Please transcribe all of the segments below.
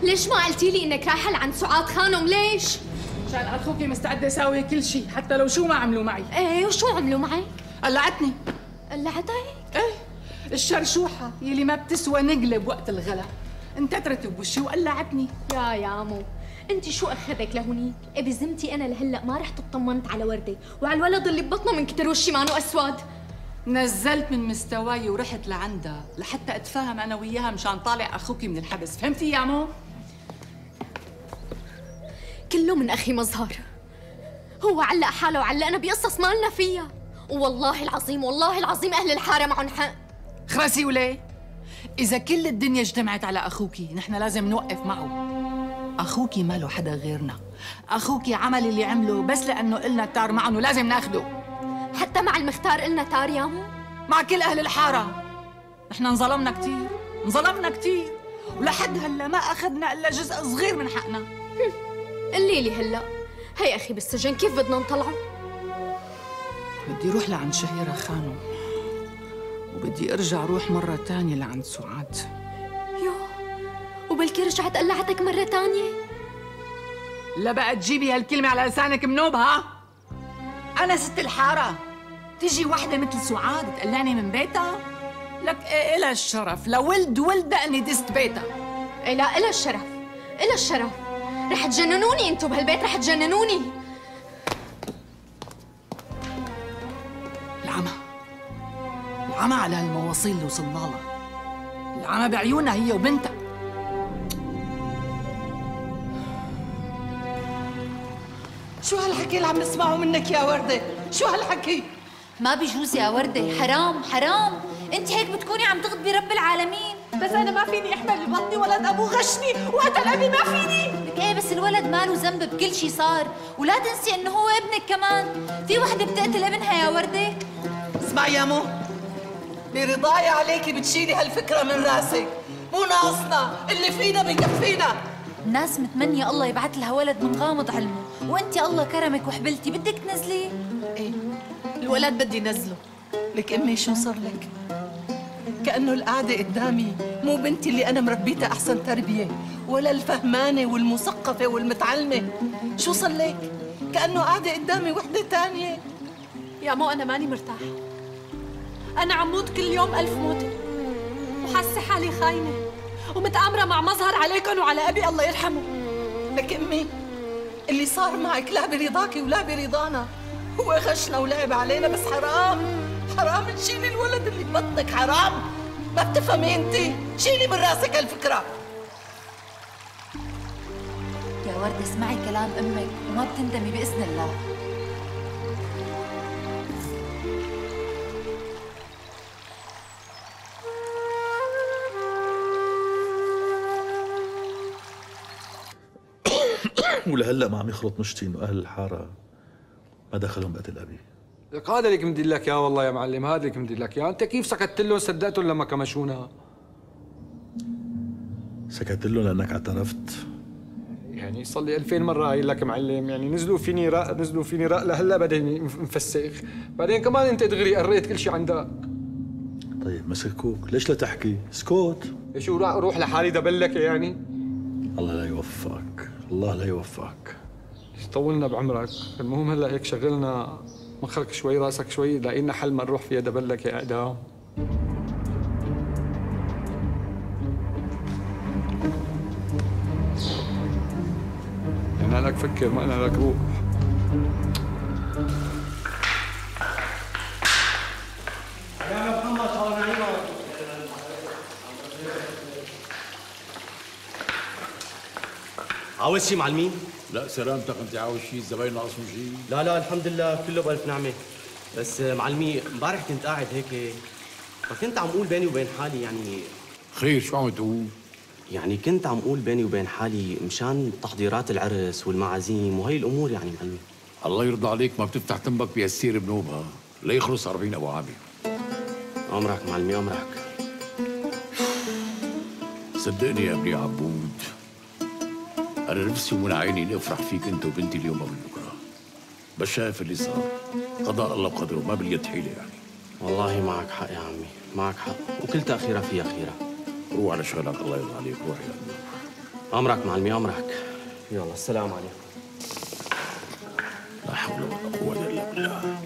ليش ما قلتي لي انك رايحه لعند سعاد خانم؟ ليش؟ مشان اخوكي مستعده اساوي كل شيء حتى لو شو ما عملوا معي. ايه وشو عملوا معك؟ قلعتني. قلعتك؟ ايه الشرشوحه يلي ما بتسوى نقلب وقت الغلا انتترت بوشي وقلعتني. يا يامو انت شو اخذك لهونيك؟ إيه بذمتي انا لهلا ما رحت اطمنت على ورده وعلى الولد اللي ببطنه من كتر وشي مانو اسود. نزلت من مستواي ورحت لعندها لحتى اتفاهم انا وياها مشان طالع اخوكي من الحبس، فهمتي يا مو؟ كله من اخي مظهر، هو علق حاله وعلقنا بقصص ما لنا فيها، والله العظيم والله العظيم اهل الحاره معهم حق. خرسي وليه؟ اذا كل الدنيا اجتمعت على اخوكي نحن لازم نوقف معه. اخوكي ما له حدا غيرنا، اخوكي عمل اللي عمله بس لانه قلنا تار معهم ولازم ناخده. حتى مع المختار قلنا تار يامو؟ مع كل اهل الحاره. نحن انظلمنا كثير، انظلمنا كثير، ولحد هلا ما اخذنا الا جزء صغير من حقنا. قلي لي هلا، هي اخي بالسجن كيف بدنا نطلعه؟ بدي اروح لعند شهيرة خانم وبدي ارجع اروح مرة تانية لعند سعاد. يو وبلكي رجعت قلعتك مرة تانية؟ لا بقى تجيبي هالكلمة على لسانك منوب ها؟ أنا ست الحارة، تيجي وحدة مثل سعاد تقلعني من بيتها؟ لك إلها الشرف، لولد ولدها إني دست بيتها. إيه لا إلها الشرف، إلها الشرف، رح تجننوني انتو بهالبيت، رح تجننوني. العمى على هالمواصيل اللي وصلنا لها، العمى بعيونها هي وبنتها. شو هالحكي اللي عم نسمعه منك يا وردة؟ شو هالحكي؟ ما بيجوز يا وردة، حرام حرام، انت هيك بتكوني عم تغضبي رب العالمين. بس انا ما فيني احمل ببطني ولد ابوه غشني وقتل ابي، ما فيني. لك ايه بس الولد ما له ذنب بكل شيء صار، ولا تنسي انه هو ابنك كمان، في وحده بتقتل ابنها يا وردة. اسمعي يا مو، برضاي عليكي بتشيلي هالفكرة من راسك، مو ناقصنا، اللي فينا بكفينا. الناس متمنية الله يبعث لها ولد من غامض علمه، وانت الله كرمك وحبلتي بدك تنزليه. ايه الولد بدي نزله. لك امي شو صار لك؟ كأنه القعدة قدامي مو بنتي اللي أنا مربيتها أحسن تربية، ولا الفهمانة والمثقفة والمتعلمة. شو صار لك؟ كأنه قاعدة قدامي وحدة تانية. يا مو أنا ماني مرتاحة، أنا عم موت كل يوم 1000 موتة، وحاسة حالي خاينة ومتآمرة مع مظهر عليكم وعلى أبي الله يرحمه. لك أمي اللي صار معك لا برضاكي ولا برضانا، هو غشنا ولعب علينا، بس حرام حرام تشيلي الولد اللي ببطنك، حرام. ما بتفهمي انت، شيلي من راسك هالفكرة. يا وردة اسمعي كلام امك وما بتندمي بإذن الله. ولهلا ما عم يخلط مشتي انه اهل الحاره ما دخلهم بقتل ابي. لك هذا اللي كنت لك اياه والله يا معلم، هذا اللي كنت لك اياه، انت كيف سكت لهم صدقتهم لما كمشونا؟ سكت لهم لانك اعترفت. يعني صار لي 2000 مرة قايل لك معلم، يعني نزلوا فيني رق لهلا بدني مفسخ، بعدين كمان انت دغري قريت كل شيء عندك. طيب مسكوك، ليش لا تحكي؟ اسكت. شو روح لحالي دبلك يعني؟ الله لا يوفقك، الله لا يوفقك. طولنا بعمرك، المهم هلا هيك شغلنا مخك شوي راسك شوي، لاقي لنا حل ما نروح فيها دبلك يا اعدام. انا لك فكر ما انا لك روح. يا محمد صار نعيمك. عاوز شي معلمين؟ لا سلامتك، انت عاوز شيء؟ الزباين ناقصهم شيء؟ لا الحمد لله كله بألف نعمة. بس معلمي امبارح كنت قاعد هيك فكنت عم اقول بيني وبين حالي يعني خير شو عم تقول؟ يعني كنت عم اقول بيني وبين حالي مشان تحضيرات العرس والمعازيم وهي الامور يعني معلمي. الله يرضى عليك ما بتفتح تنبك بيسير بنوبها ليخلص 40 ابو عامر. امرك معلمي امرك. صدقني يا ابني عبود، أنا نفسي ومن عيني إني أفرح فيك أنت وبنتي اليوم قبل بكرة، بس شايف اللي صار، قضاء الله بقدره ما باليد حيلة يعني. والله معك حق يا عمي، معك حق، وكل تأخيرة فيها خيرة. روح على شغلك الله يرضى عليك، روح يا ابني. امرك معلمي امرك. يلا السلام عليكم. لا حول ولا قوة إلا بالله.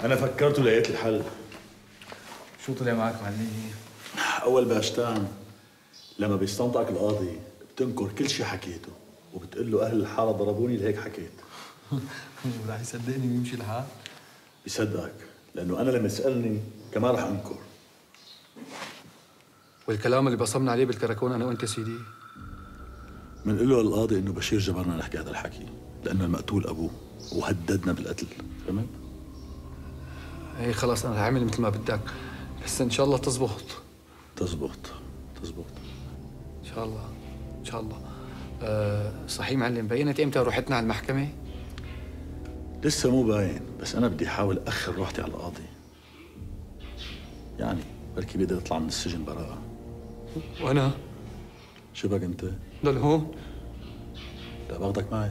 أنا فكرت ولقيت الحل. شو طلع معك معلمي؟ أول باشتان لما بيستنطقك القاضي بتنكر كل شيء حكيته وبتقول له أهل الحارة ضربوني لهيك حكيت. رح يصدقني ويمشي الحال؟ بيصدقك لأنه أنا لما يسألني كمان رح أنكر. والكلام اللي بصمنا عليه بالكراكون أنا وأنت سيدي؟ بنقول له للقاضي إنه بشير جبرنا نحكي هذا الحكي لأنه المقتول أبوه وهددنا بالقتل، فهمت؟ ايه خلاص أنا رح أعمل مثل ما بدك، بس إن شاء الله تزبط. تزبط. إن شاء الله إن شاء الله. صحيح معلم، بينت إمتى روحتنا على المحكمة؟ لسه مو باين، بس أنا بدي أحاول أخر روحتي على القاضي. يعني بركي بقدر أطلع من السجن براءة. وأنا؟ شو بك أنت؟ ضل هون؟ لا باخدك معي.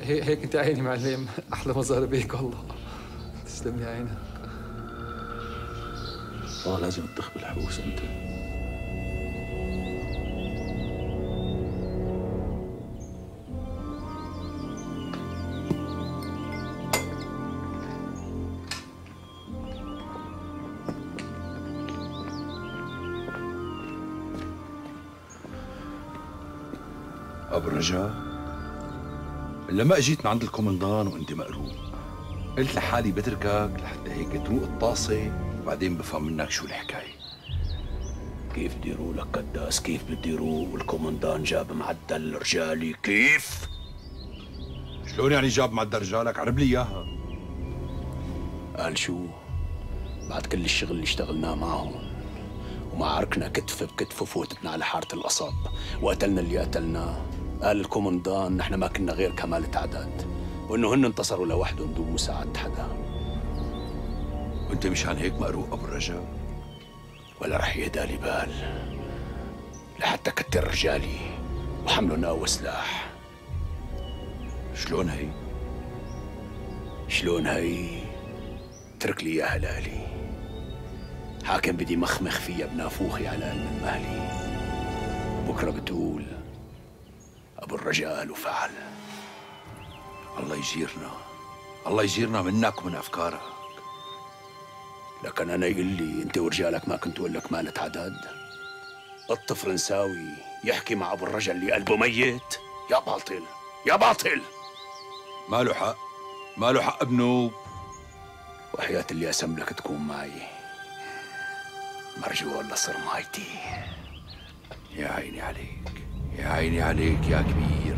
هيك أنت عيني معلم، أحلى مظهر بيك والله. تسلم لي عينك. لازم تدخ بالحبوس أنت. أبو الرجاء، لما اجيت من عند الكومندان وانت مقروب قلت لحالي بتركك لحتى هيك تروق الطاسة وبعدين بفهم منك شو الحكاية. كيف بدي روق لك قداس؟ كيف بدي روق والكومندان جاب معدل رجالي؟ كيف؟ شلون يعني جاب معدل رجالك؟ عرب لي اياها. قال شو؟ بعد كل الشغل اللي اشتغلناه معهم ومعاركنا كتف بكتف وفوتتنا على حارة القصب وقتلنا اللي قتلناه، قال الكومندان نحن ما كنا غير كمالة عدد وانه هن انتصروا لوحدهم دون مساعدة حدا. وانت مشان هيك مقروق ابو الرجاء؟ ولا رح يهدى لي بال لحتى كتر رجالي وحملوا ناو وسلاح. شلون هي؟ شلون هي؟ اترك لي اياها لالي. حاكم بدي مخمخ فيها بنافوخي على قلب من مهلي. بكره بتقول ابو الرجال وفعل. الله يجيرنا، الله يجيرنا منك ومن افكارك. لكن انا يقول لي انت ورجالك ما كنتوا لك مالة عدد؟ قط فرنساوي يحكي مع ابو الرجل اللي قلبه ميت؟ يا باطل يا باطل. ما له حق، ما له حق بنوب. وحياة اللي اسملك تكون معي مرجو ولا صرمايتي. يا عيني عليك، يا عيني عليك يا كبير.